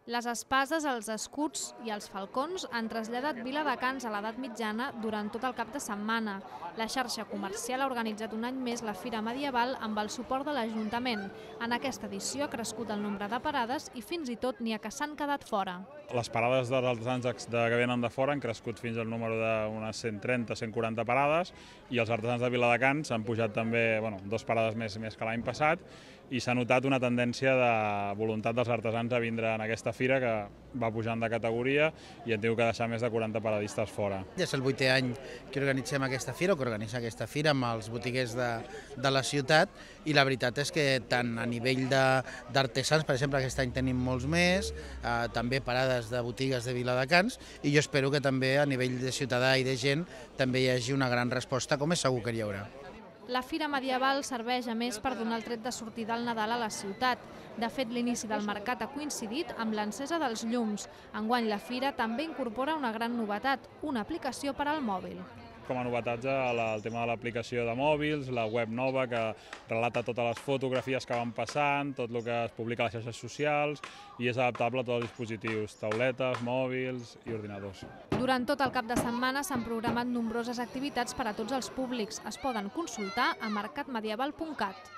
Les espases, els escuts i els falcons han traslladat Viladecans a l'edat mitjana durant tot el cap de setmana. La xarxa comercial ha organitzat un any més la Fira Medieval amb el suport de l'Ajuntament. En aquesta edició ha crescut el nombre de parades i fins i tot n'hi ha que s'han quedat fora. Les parades dels artesans que venen de fora han crescut fins al número d'unes 130-140 parades i els artesans de Viladecans han pujat també 2 parades més que l'any passat i s'ha notat una tendència de voluntat dels artesans a vindre en aquesta fira que va pujant de categoria i hem tingut que deixar més de 40 paradistes fora. Ja és el 8è any que organitzem aquesta fira, o que organitza aquesta fira amb els botiguers de la ciutat, i la veritat és que tant a nivell d'artesans, per exemple, aquest any tenim molts més, també parades de botigues de Viladecans, i jo espero que també a nivell de ciutadà i de gent també hi hagi una gran resposta, com és segur que hi haurà. La Fira Medieval serveix a més per donar el tret de sortida al Nadal a la ciutat. De fet, l'inici del mercat ha coincidit amb l'encesa dels llums. Enguany la fira també incorpora una gran novetat, una aplicació per al mòbil. Com a novetats el tema de l'aplicació de mòbils, la web nova que relata totes les fotografies que van passant, tot el que es publica a les xarxes socials i és adaptable a tots els dispositius, tauletes, mòbils i ordinadors. Durant tot el cap de setmana s'han programat nombroses activitats per a tots els públics. Es poden consultar a mercatmedieval.cat.